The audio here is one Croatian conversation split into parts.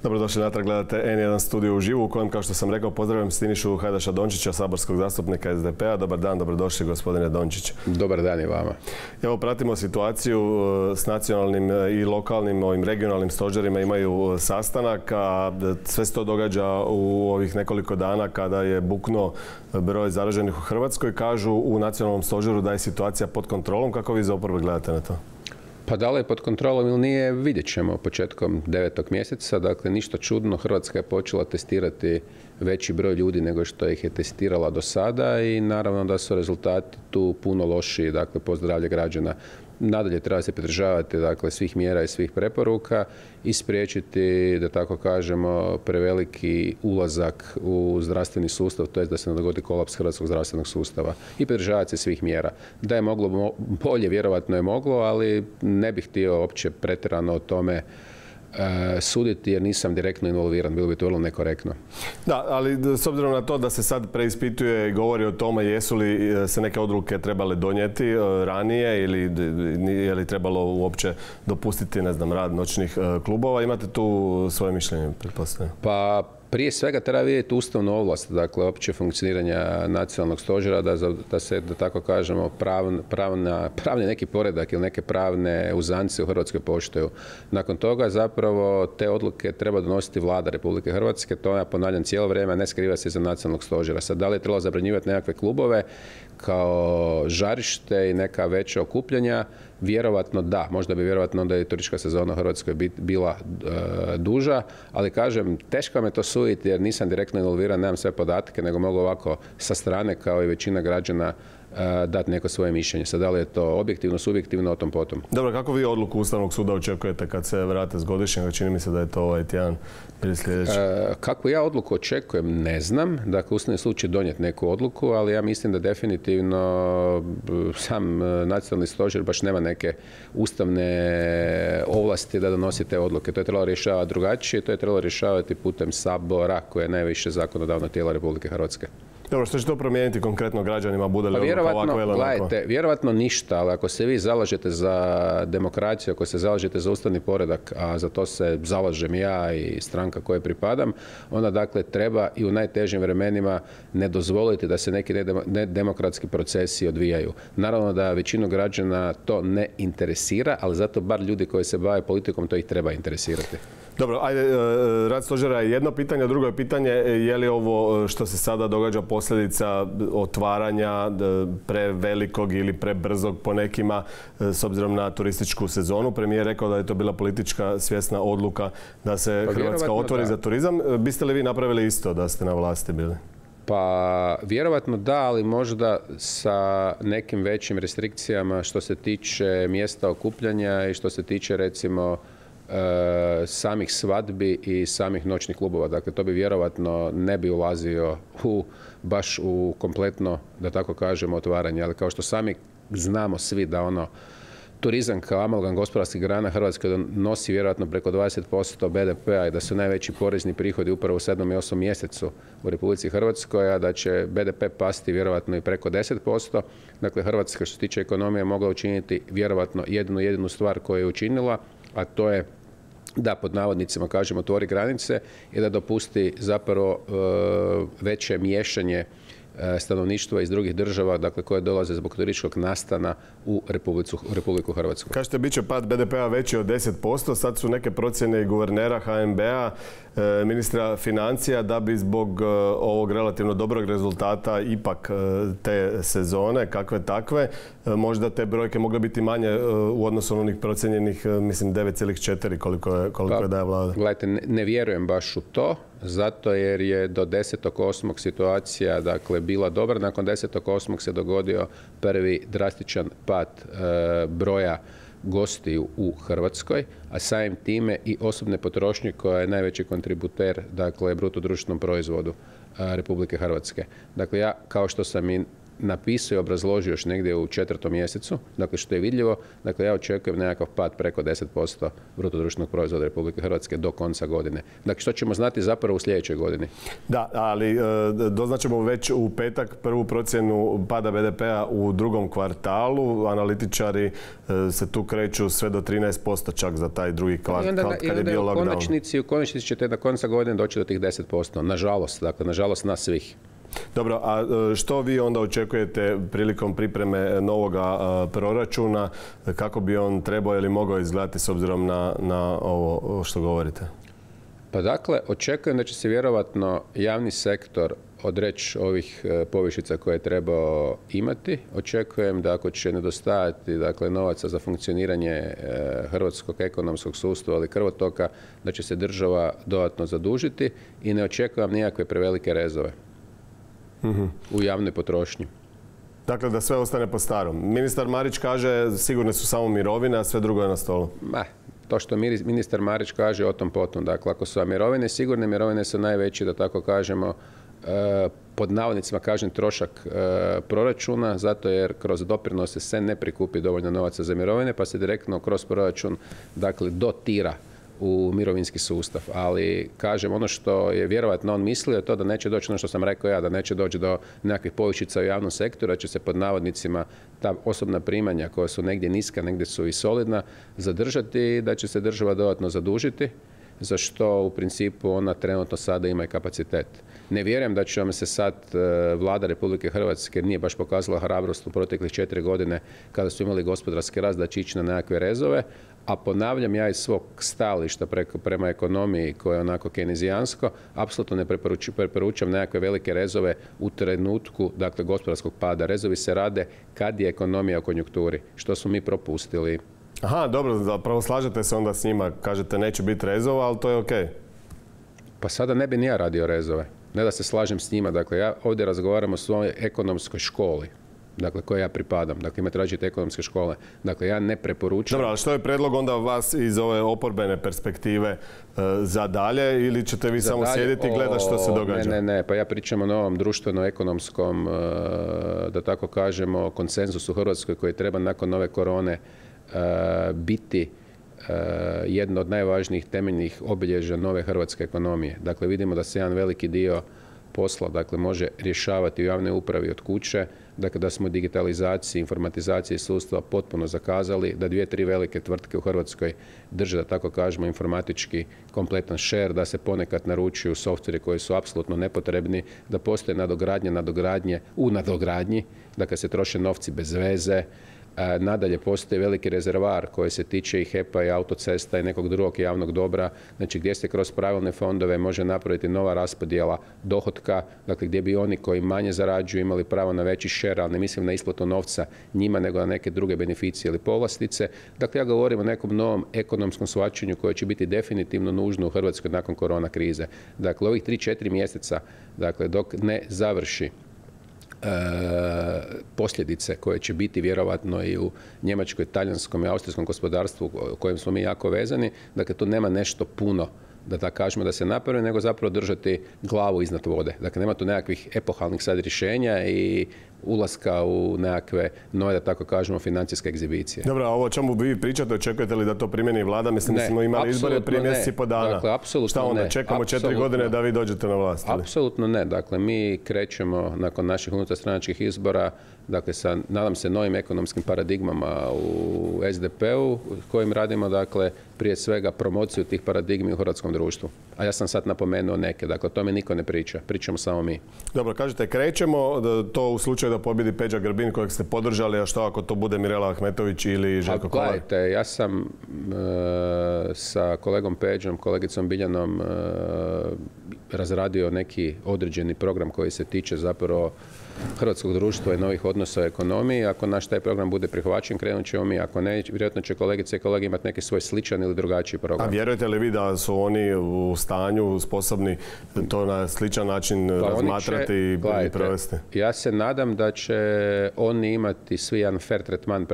Dobrodošli natrag, gledate N1 studiju uživo u kojem, kao što sam rekao, pozdravljam Sinišu Hajdaša Dončića, saborskog zastupnika SDP-a. Dobar dan, dobrodošli gospodine Dončić. Dobar dan i vama. Evo, pratimo situaciju s nacionalnim i lokalnim, ovim regionalnim stožerima imaju sastanak, a sve se to događa u ovih nekoliko dana kada je buknuo broj zaraženih u Hrvatskoj. Kažu u nacionalnom stožeru da je situacija pod kontrolom. Kako vi za oporbe gledate na to? Pa da li je pod kontrolom ili nije, vidjet ćemo početkom 9. mjeseca. Dakle, ništa čudno, Hrvatska je počela testirati veći broj ljudi nego što ih je testirala do sada i naravno da su rezultati tu puno lošiji, dakle, po zdravlje građana. Nadalje treba se pridržavati, dakle, svih mjera i svih preporuka i spriječiti, da tako kažemo, preveliki ulazak u zdravstveni sustav, to je da se ne dogodi kolaps hrvatskog zdravstvenog sustava i pridržavati se svih mjera. Da je moglo bolje, vjerojatno je moglo, ali ne bih htio uopće pretjerano o tome suditi jer nisam direktno involviran, bilo bi to vrlo nekorektno. Da, ali s obzirom na to da se sad preispituje i govori o tome jesu li se neke odluke trebale donijeti ranije ili je li trebalo uopće dopustiti, ne znam, rad noćnih klubova, imate tu svoje mišljenje, pretpostavljam? Pa prije svega treba vidjeti ustavnu ovlast, dakle, opće funkcioniranja nacionalnog stožera, da se, da tako kažemo, pravni neki poredak ili neke pravne uzance u Hrvatskoj poštuju. Nakon toga zapravo te odluke treba donositi Vlada Republike Hrvatske, to ja ponavljam cijelo vrijeme, ne skriva se iza nacionalnog stožera. Sad, da li je trebalo zabranjivati nekakve klubove kao žarište i neka veća okupljanja? Vjerovatno da, možda bi vjerovatno onda i turistička sezona u Hrvatskoj bila duža, ali kažem, teško me to suditi jer nisam direktno involviran, nemam sve podatke, nego mogu ovako sa strane kao i većina građana dati neko svoje mišljenje. Sad, da li je to objektivno, subjektivno, o tom potom. Dobro, kako vi odluku Ustavnog suda očekujete kad se vrate s godišnjega? Čini mi se da je to ovaj tjedan ili sljedeći. Kako ja odluku očekujem, ne znam. Dakle, Ustavni sud će donijeti neku odluku, ali ja mislim da definitivno sam nacionalni stožer baš nema neke ustavne ovlasti da donosi te odluke. To je trebalo rješavati drugačije, to je trebalo rješavati putem Sabora, koje je najviše zakonodavno tijelo Republike Hrvatske. Dobro, što će to promijeniti konkretno građanima, bude li odluka ovako ili onako? Vjerovatno ništa, ali ako se vi zalažete za demokraciju, ako se zalažete za ustavni poredak, a za to se zalažem ja i stranka kojoj pripadam, onda dakle treba i u najtežim vremenima ne dozvoliti da se neki nedemokratski procesi odvijaju. Naravno da većinu građana to ne interesira, ali zato bar ljudi koji se bave politikom to ih treba interesirati. Dobro, ajde, rad stožera je jedno pitanje, drugo je pitanje je li ovo što se sada događa posljedica otvaranja prevelikog ili prebrzog po nekima s obzirom na turističku sezonu. Premijer je rekao da je to bila politička svjesna odluka da se Hrvatska otvori za turizam. Biste li vi napravili isto da ste na vlasti bili? Pa vjerovatno da, ali možda sa nekim većim restrikcijama što se tiče mjesta okupljanja i što se tiče recimo samih svadbi i samih noćnih klubova. Dakle, to bi vjerovatno ne bi ulazio baš u kompletno, da tako kažemo, otvaranje. Ali kao što sami znamo svi da turizam kao amalgam gospodarskih grana Hrvatske nosi vjerojatno preko 20% BDP-a i da su najveći porezni prihodi upravo u 7. i 8. mjesecu u Republici Hrvatskoj, a da će BDP pasti vjerojatno i preko 10%. Dakle, Hrvatska što se tiče ekonomije mogla učiniti vjerojatno jedinu stvar koju je učinila, a to je da pod navodnicima kažemo otvori granice i da dopusti zapravo veće miješanje stanovništva iz drugih država, dakle koje dolaze zbog turističkog nastana u Republiku Hrvatsku. Kažete, bit će pad BDP-a veći od 10%, sad su neke procjene i guvernera HNB-a, ministra financija, da bi zbog ovog relativno dobrog rezultata ipak te sezone, kakve takve, možda te brojke mogle biti manje u odnosu na onih procjenjenih, mislim, 9,4 koliko je daje vlada. Gledajte, ne vjerujem baš u to, zato jer je do 10.8. situacija, dakle, bila dobra. Nakon 10.8. se dogodio prvi drastičan pad broja gostiju u Hrvatskoj, a samim time i osobne potrošnje koja je najveći kontributer, dakle, bruto društvenom proizvodu Republike Hrvatske. Dakle, ja, kao što sam i napisao i obrazložio još negdje u 4. mjesecu, dakle što je vidljivo, dakle ja očekujem nekakav pad preko 10% bruto društvenog proizvoda Republike Hrvatske do konca godine. Dakle što ćemo znati zapravo u sljedećoj godini. Da, ali doznaćemo već u petak prvu procjenu pada BDP-a u drugom kvartalu. Analitičari se tu kreću sve do 13% čak za taj drugi kvartal kad je bio lockdown. U konačnici ćete na konca godine doći do tih 10%. Nažalost, dakle, nažalost nas svih. Dobro, a što vi onda očekujete prilikom pripreme novoga proračuna? Kako bi on trebao ili mogao izgledati s obzirom na ovo što govorite? Pa dakle, očekujem da će se vjerovatno javni sektor odreći ovih povišica koje je trebao imati. Očekujem da ako će nedostajati dakle, novaca za funkcioniranje hrvatskog ekonomskog sustava ili krvotoka, da će se država dodatno zadužiti i ne očekujem nikakve prevelike rezove u javnoj potrošnji. Dakle, da sve ostane po starom. Ministar Marić kaže sigurne su samo mirovine, a sve drugo je na stolu. To što ministar Marić kaže o tom potom. Dakle, ako su mirovine sigurne, mirovine su najveći, da tako kažemo, pod navodnicima kažem trošak proračuna, zato jer kroz doprinose se ne prikupi dovoljno novaca za mirovine, pa se direktno kroz proračun dakle, dotira u mirovinski sustav. Ali, kažem, ono što je vjerovatno on mislio je to da neće doći, ono što sam rekao ja, da neće doći do nekakvih povišica u javnom sektoru, da će se pod navodnicima ta osobna primanja koja su negdje niska, negdje su i solidna, zadržati i da će se država dodatno zadužiti, za što u principu ona trenutno sada ima i kapacitet. Ne vjerujem da će vam se sad vlada Republike Hrvatske nije baš pokazala hrabrost u proteklih 4 godine kada su imali gospodarski rast da će ići na nekakve rezove, a ponavljam ja iz svog stajališta prema ekonomiji koja je onako kejnezijansko, apsolutno ne preporučam nekakve velike rezove u trenutku dakle, gospodarskog pada. Rezovi se rade kad je ekonomija u konjunkturi, što smo mi propustili. Aha, dobro, zapravo slažete se onda s njima, kažete neće biti rezova, ali to je okej. Pa sada ne bi ni ja radio rezove. Ne da se slažem s njima, dakle ja ovdje razgovaram o svojoj ekonomskoj školi, dakle koje ja pripadam. Dakle imate različite ekonomske škole. Dakle ja ne preporučam. Dobro, ali što je predlog onda vas iz ove oporbene perspektive za dalje ili ćete vi samo sjediti i gledati što se događa? Ne, pa ja pričam o novom društveno-ekonomskom, da tako kažemo, konsenzusu u Hrvatskoj koji treba nakon nove korone biti jedno od najvažnijih temeljnih obilježja nove hrvatske ekonomije. Dakle, vidimo da se jedan veliki dio posla dakle, može rješavati u javnoj upravi od kuće, dakle, da smo digitalizaciji, informatizaciji sustava potpuno zakazali, da 2-3 velike tvrtke u Hrvatskoj drže, da tako kažemo, informatički kompletan share, da se ponekad naručuju softveri koji su apsolutno nepotrebni, da postoje nadogradnje u nadogradnji, dakle se troše novci bez veze. Nadalje postoji veliki rezervar koji se tiče i HEP-a i autocesta i nekog drugog javnog dobra, znači gdje se kroz pravilne fondove može napraviti nova raspodjela dohotka, dakle gdje bi oni koji manje zarađuju imali pravo na veći share, ali ne mislim na isplatu novca njima nego na neke druge beneficije ili povlastice. Dakle ja govorim o nekom novom ekonomskom shvaćanju koje će biti definitivno nužno u Hrvatskoj nakon korona krize. Dakle ovih 3-4 mjeseca, dakle dok ne završi posljedice koje će biti vjerovatno i u njemačkoj, talijanskom i austrijskom gospodarstvu u kojem smo mi jako vezani, dakle tu nema nešto puno da tako kažemo da se napravi, nego zapravo držati glavu iznad vode. Dakle nema tu nekakvih epohalnih sad rješenja i ulaska u nekakve nove, da tako kažemo, financijske egzibicije. Dobro, a ovo o čemu vi pričate, očekujete li da to primjeni vlada? Mislim da smo imali izbore prije mjesec i po dana. Dakle, apsolutno šta onda, čekamo 4 godine da vi dođete na vlast? Apsolutno ne. Dakle, mi krećemo nakon naših unutarstranačkih izbora, dakle, sa, nadam se, novim ekonomskim paradigmama u SDP-u, kojim radimo, dakle, prije svega promociju tih paradigmi u hrvatskom društvu. A ja sam sad napomenuo neke, dakle, o tome niko ne priča, pričamo samo mi. Dobro, kažete krećemo, to u slučaju da pobjedi Peđa Grbin kojeg ste podržali, a što ako to bude Mirela Ahmetović ili Željko Kolar? Gledajte, ja sam sa kolegom Peđom, kolegicom Biljanom razradio neki određeni program koji se tiče zapravo hrvatskog društva i novih odnosa u ekonomiji. Ako naš taj program bude prihvaćen, krenut ćemo mi. Ako ne, vjerojatno će kolegice i kolege imati neki svoj sličan ili drugačiji program. A vjerujete li vi da su oni u stanju, sposobni to na sličan način razmatrati i provesti? Ja se nadam da će oni imati svi jedan fair tretman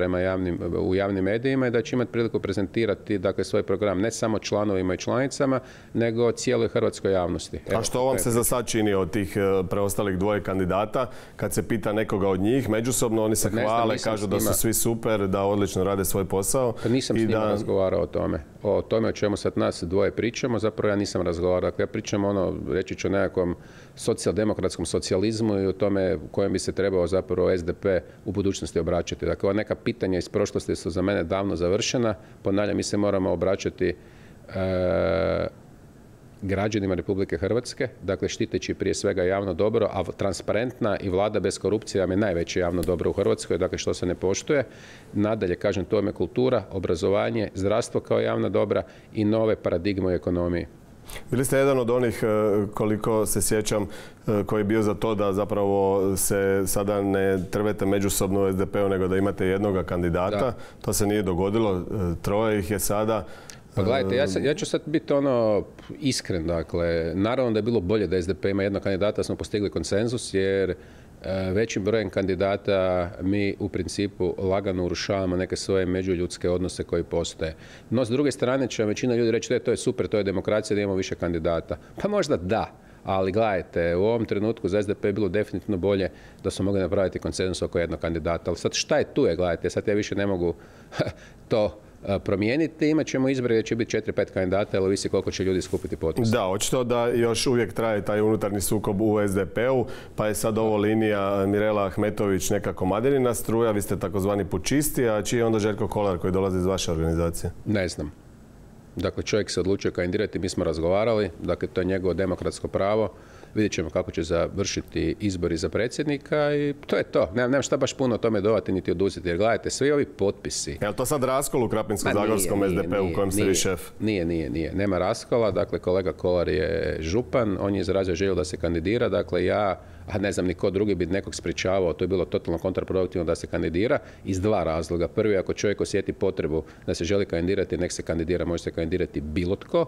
u javnim medijima i da će imati priliku prezentirati dakle, svoj program ne samo članovima i članicama, nego cijeloj hrvatskoj javnosti. A što vam se za sad čini od tih preostalih dvoje kandidata? kad se pita nekoga od njih, međusobno oni se hvale, kažu da su svi super, da odlično rade svoj posao. Pa nisam s njima razgovarao o tome. O tome o čemu sad nas dvoje pričamo, zapravo ja nisam razgovarao. Dakle, ja pričam reći ću o nekakvom socijaldemokratskom socijalizmu i o tome u kojem bi se trebao zapravo SDP u budućnosti obraćati. Dakle, ova neka pitanja iz prošlosti su za mene davno završena. Ponavljam, mi se moramo obraćati građanima Republike Hrvatske, dakle štiteći prije svega javno dobro, a transparentna i vlada bez korupcije vam je najveće javno dobro u Hrvatskoj, dakle što se ne poštuje. Nadalje, kažem, to je kultura, obrazovanje, zdravstvo kao javna dobra i nove paradigme u ekonomiji. Bili ste jedan od onih, koliko se sjećam, koji je bio za to da zapravo se sada ne trvete međusobno u SDP-u, nego da imate jednoga kandidata. Da. To se nije dogodilo, troje ih je sada. Pa gledajte, ja ću sad biti iskren, dakle, naravno da je bilo bolje da SDP ima jednog kandidata, smo postigli konsenzus, jer većim brojem kandidata mi u principu lagano urušavamo neke svoje međuljudske odnose koji postoje. No, s druge strane će većina ljudi reći da to je super, to je demokracija, da imamo više kandidata. Pa možda da, ali gledajte, u ovom trenutku za SDP je bilo definitivno bolje da smo mogli napraviti konsenzus oko jednog kandidata. Ali sad šta je tu gledajte, sad ja više ne mogu to promijeniti, imat ćemo izbore gdje će biti 4-5 kandidata, ali ovisi koliko će ljudi skupiti potpisa. Da, očito da još uvijek traje taj unutarnji sukob u SDP-u, pa je sad ovo linija Mirela Ahmetović neka komadinina struja, vi ste takozvani pučisti, a čiji je onda Željko Kolar koji dolazi iz vaše organizacije? Ne znam. Dakle, čovjek se odlučio kandidirati, mi smo razgovarali, dakle, to je njegovo demokratsko pravo. Vidjet ćemo kako će završiti izbori za predsjednika i to je to. Nemam šta baš puno o tome dodati niti oduzeti. Jer gledajte, svi ovi potpisi... Je li to sad raskol u Krapinsko-zagorskom SDP-u u kojem ste vi šef? Nije. Nema raskola. Dakle, kolega Kolar je župan. On je izrazio želju da se kandidira. Dakle, ja, a ne znam ni ko drugi bi nekog sprječavao. To je bilo totalno kontraproduktivno da se kandidira iz dva razloga. Prvi, ako čovjek osjeti potrebu da se želi kandidirati, nek se kandidira. Može se kandidirati bilo tko.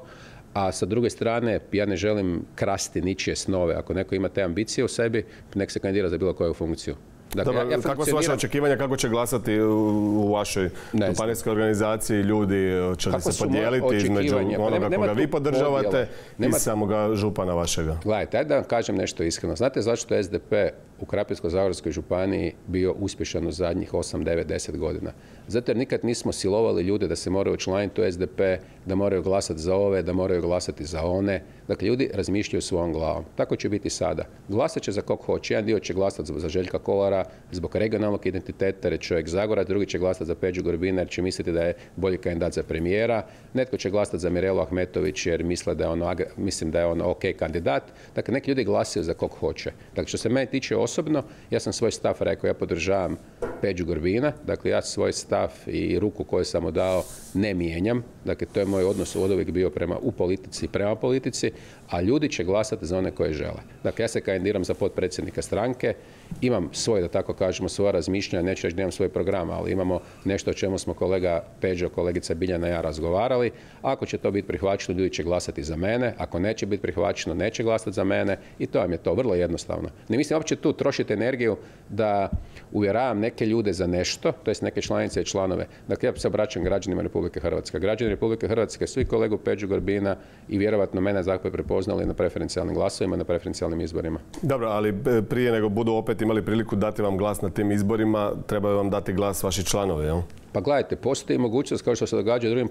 A sa druge strane, ja ne želim krasti ničije snove. Ako neko ima te ambicije u sebi, nek se kandidira za bilo koju funkciju. Dakle, kakva su vaše očekivanja, kako će glasati u vašoj županijskoj organizaciji ljudi? Će li se podijeliti između onoga koga vi podržavate i samoga župana vašega? Gledajte, ajde da vam kažem nešto iskreno. Znate zašto je SDP u Krapinsko-zagorskoj županiji bio uspješan u zadnjih 8, 9, 10 godina? Zato jer nikad nismo silovali ljude da se moraju učlaniti u SDP, da moraju glasati za ove, da moraju glasati za one. Dakle, ljudi razmišljaju svojom glavom. Tako će biti sada. Glasat će za kog hoće. Jedan dio će glasati za Željka Kolara zbog regionalnog identiteta, jer je čovjek Zagora, drugi će glasati za Peđu Grbina jer će misliti da je bolji kandidat za premijera. Netko će glasati za Mirelu Ahmetović jer misle da je on ok kandidat. Dakle, neki ljudi glasaju za kog hoće. Dakle, što se mene tiče osobno, ja sam svoj stav rekao, ja podržavam Peđu Grbina. Dakle, ja svoj stav i ruku koju sam mu dao ne mijenjam. Dakle, to je moj odnos oduvijek bio u politici i prema politici, a ljudi će glasati za one koje žele. Dakle, ja se kandidiram za potpredsjednika stranke, imam svoj, da tako kažemo, svoja razmišljanja, neću reći da imam svoj program, ali imamo nešto o čemu smo kolega Peđo, kolegica Biljana i ja razgovarali. Ako će to biti prihvaćeno, ljudi će glasati za mene, ako neće biti prihvaćeno, neće glasati za mene i to vam je to, vrlo jednostavno. Ne mislim uopće tu trošiti energiju da uvjeravam neke ljude za nešto, to jest neke članice i članove. Dakle, ja se obraćam građanima Republike Hrvatske. Građani Republike Hrvatske, svi kolegu Peđu Grbina i vjerovatno mene zakon prepoznali na preferencijalnim glasovima, na preferencijalnim izborima. Dobro, ali prije nego budu opet imali priliku dati vam glas na tim izborima, trebaju vam dati glas vaši članovi, jel? Pa gledajte, postoji mogućnost, kao što se događa u drugim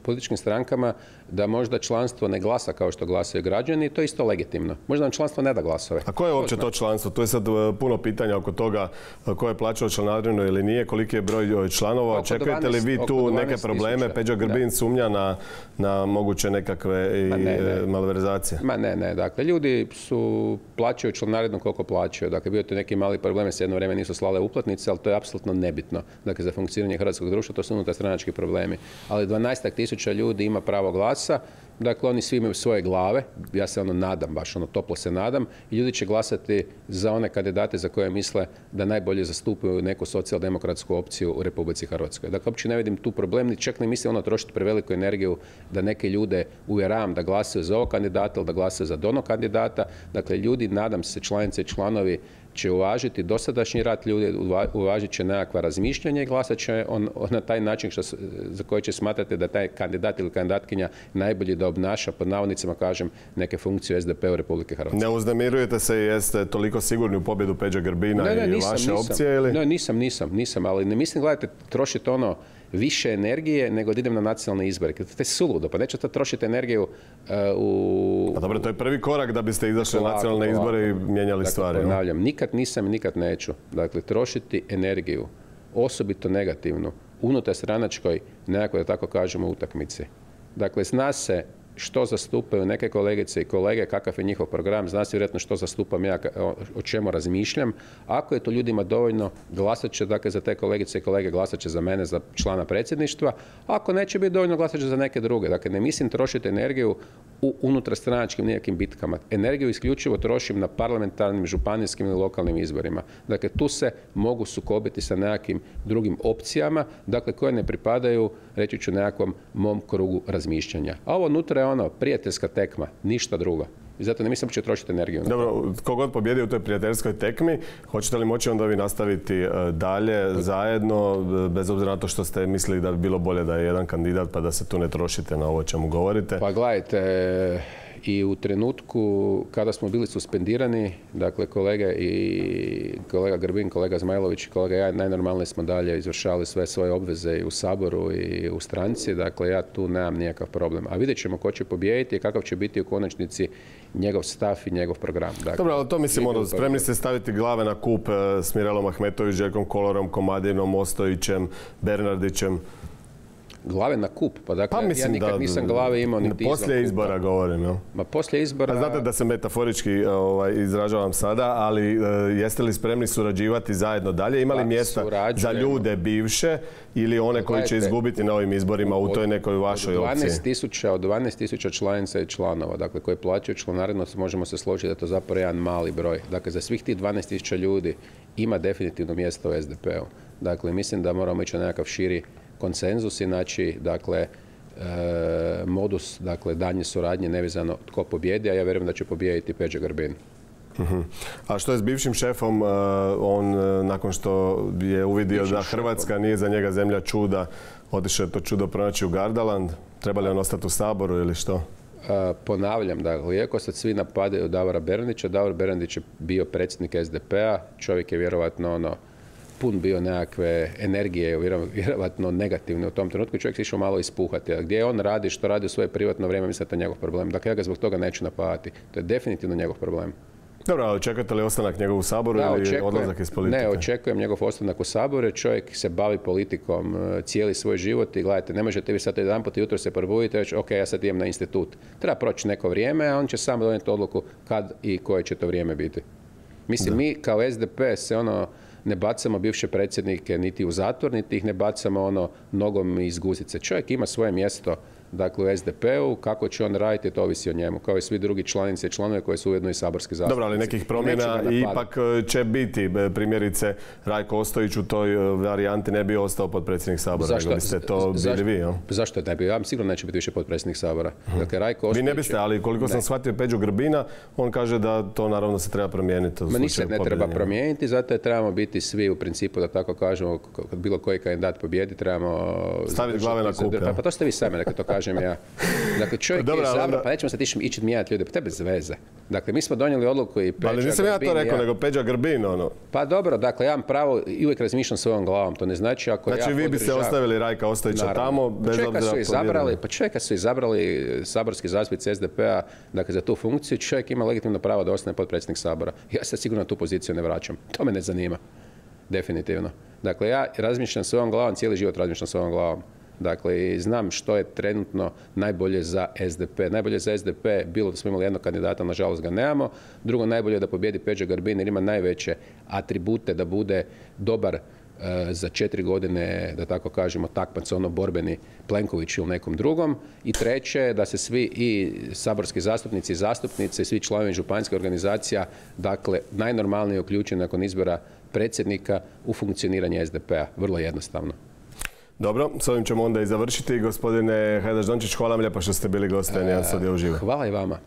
političkim strankama, da možda članstvo ne glasa kao što glasaju građani i to je isto legitimno. Možda nam članstvo ne da glasove. A koje je uopće to članstvo? Tu je sad puno pitanja oko toga ko je plaćao članarinu ili nije, koliki je broj članova. Očekujete li vi tu neke probleme? Peđa Grbin sumnja na moguće nekakve malverzacije? Ma ne. Dakle, ljudi plaćaju članarinu koliko plaćaju. Dakle, bio to neki mali problem, se jedno vrijeme nisu slale uplatnice, ali to je apsolutno nebitno. Dakle, za funkcioniranje hrvatskog društva, to su unutarstranački problemi. Ali 12.000 ljudi ima pravo glasa, dakle oni svi imaju svoje glave, ja se nadam, baš toplo se nadam, i ljudi će glasati za one kandidate za koje misle da najbolje zastupaju neku socijaldemokratsku opciju u Republici Hrvatskoj. Dakle, uopće ne vidim tu problem, ni čak ne mislim trošiti preveliku energiju da neke ljude uvjeravam da glasaju za ovog kandidata ili da glasaju za onog kandidata. Dakle, ljudi, nadam se, članice i članovi će uvažiti dosadašnji rad ljudi, uvažit će nekakva razmišljanja i glasat će na taj način za koji će smatrati da taj kandidat ili kandidatkinja najbolji da obnaša, pod navodnicima kažem, neke funkcije u SDP-u Republike Hrvatske. Ne uznemirujete se i jeste toliko sigurni u pobjedu Peđe Grbina i vaše opcije? Ili? Ne, nisam, ali ne mislim, gledajte, trošiti više energije nego da idem na nacionalne izbore. To je suludo, pa nećete trošiti energiju u... A dobro, to je prvi korak da biste izašli na nacionalne izbore i mijenjali stvari. Ponavljam, nikad nisam i nikad neću. Dakle, trošiti energiju, osobito negativnu, unutar stranačkoj, nekako da tako kažemo, utakmici. Dakle, zna se što zastupaju neke kolegice i kolege, kakav je njihov program, zna se vjerojatno što zastupam ja, o čemu razmišljam. Ako je to ljudima dovoljno, glasat će, dakle, za te kolegice i kolege, glasat će za mene, za člana predsjedništva. Ako neće biti dovoljno, glasat će za neke druge. Dakle, ne mislim trošiti energiju u unutarstranačkim nekakvim bitkama. Energiju isključivo trošim na parlamentarnim, županijskim ili lokalnim izborima. Dakle, tu se mogu sukobiti sa nekakvim drugim opcijama, dakle, koje ne pripadaju, reći ću, nekakvom mom krugu razmišljanja. A ovo unutra je prijateljska tekma, ništa drugo. I zato ne mislim da će trošiti energiju. Dobro, kogod pobjedi u toj prijateljskoj tekmi, hoćete li moći onda vi nastaviti dalje, zajedno, bez obzira na to što ste mislili da bi bilo bolje da je jedan kandidat, pa da se tu ne trošite na ovo čemu govorite? Pa gledajte, i u trenutku kada smo bili suspendirani, dakle kolega Grbin, kolega Zmajlović i kolega ja, najnormalnije smo dalje izvršavali sve svoje obveze i u Saboru i u stranci, dakle ja tu nemam nikakav problem. A vidjet ćemo ko će pobijediti i kakav će biti u konačnici njegov stav i njegov program. Dakle, dobro, ali to mislim, spremni ste staviti glave na kup s Mirelom Ahmetović, Željkom Kolarom, Komadinom, Ostojićem, Bernardićem. Glave na kup, pa dakle ja nikad nisam glave imao niti izvan kupa. Poslije izbora govorim, jel? Ma poslije izbora... Znate da se metaforički izražavam sada, ali jeste li spremni surađivati zajedno dalje? Ima li mjesta za ljude bivše ili one koji će izgubiti na ovim izborima u toj nekoj vašoj opciji? Od 12.000 članica i članova, dakle koji plaćaju članarinu, možemo se složiti da je to zapravo jedan mali broj. Dakle, za svih tih 12.000 ljudi ima definitivno mjesto u SDP-u. Dakle, mislim da moramo ići na nekakav širi konsenzus, inači, dakle, modus, dakle, daljnje suradnje, nevezano tko pobjedi, a ja vjerujem da će pobijediti Peđa Grbin. A što je s bivšim šefom? On, nakon što je uvidio da Hrvatska nije za njega zemlja čuda, otišao je to čudo pronaći u Gardaland. Treba li on ostati u Saboru ili što? Ponavljam, dakle, iako sad svi napadaju Davora Bernardića, Davor Bernardić je bio predsjednik SDP-a, čovjek je vjerovatno pun bio nekakve energije, vjerovatno negativne u tom trenutku, čovjek se išao malo ispuhati. A gdje on radi, što radi u svoje privatno vrijeme, mislim da je to njegov problem. Dakle, ja ga zbog toga neću napadati. To je definitivno njegov problem. Dobro, ali očekujete li ostanak njegov u Saboru ili odlazak iz politike? Ne, očekujem njegov ostanak u Saboru, jer čovjek se bavi politikom cijeli svoj život i gledajte, ne možete vi sad jedanput jutro se probuditi i reći, ok, ja sad idem na institut. Treba proći neko vrijeme, a on će sam donijeti odluku kad i koje će to vrijeme biti. Mislim, mi kao SDP se ne bacamo bivše predsjednike niti u zatvor, niti ih ne bacamo nogom iz guzice. Čovjek ima svoje mjesto, dakle, u SDP-u, kako će on raditi, to ovisi o njemu, kao i svi drugi članice i članove koji su ujedno i saborski zastupnici. Dobro, ali nekih promjena ipak će biti. Primjerice, Rajko Ostojić u toj varijanti ne bi ostao potpredsjednik Sabora, nego biste to bili vi, jel? Zašto ne bi? Ja sigurno neće biti više potpredsjednik Sabora. Dakle, Rajko Ostojić... Vi ne biste, ali koliko sam shvatio Peđu Grbina, on kaže da to naravno se treba promijeniti. Ma ništa ne treba promijeniti, zato je trebamo biti svi u principu, da tako kažemo, kad bilo koji kandidat pobjedi, trebamo... Staviti glave na kup, pa to ste vi sami, neka to kažem ja. Dakle, čovjek je izabrao, pa nećemo sad ići mijenjati ljude, pa to je bez veze. Dakle, mi smo donijeli odluku i Peđa Grbin... Ali nisam ja to rekao, nego Peđa Grbin, Pa dobro, dakle, ja imam pravo i uvijek razmišljam svojom glavom, to ne znači ako znači, vi biste ostavili Rajka Ostojića tamo, bez obzira pa čovjeka su izabrali saborski zastupnici SDP-a, dakle, za tu funkciju, čovjek ima legitimno pravo da ostane potpredsjednik Sabora. Ja se sigurno na tu poziciju ne vraćam. To me ne zanima. Definitivno. Dakle, ja razmišljam svojom glavom, cijeli život razmišljam svojom glavom. Dakle, znam što je trenutno najbolje za SDP. Najbolje za SDP bilo da smo imali jednog kandidata, nažalost ga nemamo. Drugo, najbolje je da pobjedi Peđa Grbin jer ima najveće atribute da bude dobar za 4 godine, da tako kažemo, takmac borbeni Plenković ili nekom drugom. I treće, da se svi i saborski zastupnici i zastupnice i svi članovi županijskih organizacija, dakle, najnormalnije uključeni nakon izbora predsjednika u funkcioniranje SDP-a. Vrlo jednostavno. Dobro, s ovim ćemo onda i završiti. Gospodine Hajdaš Dončić, hvala vam lijepa što ste bili gosti N1 Studija uživo. Hvala i vama.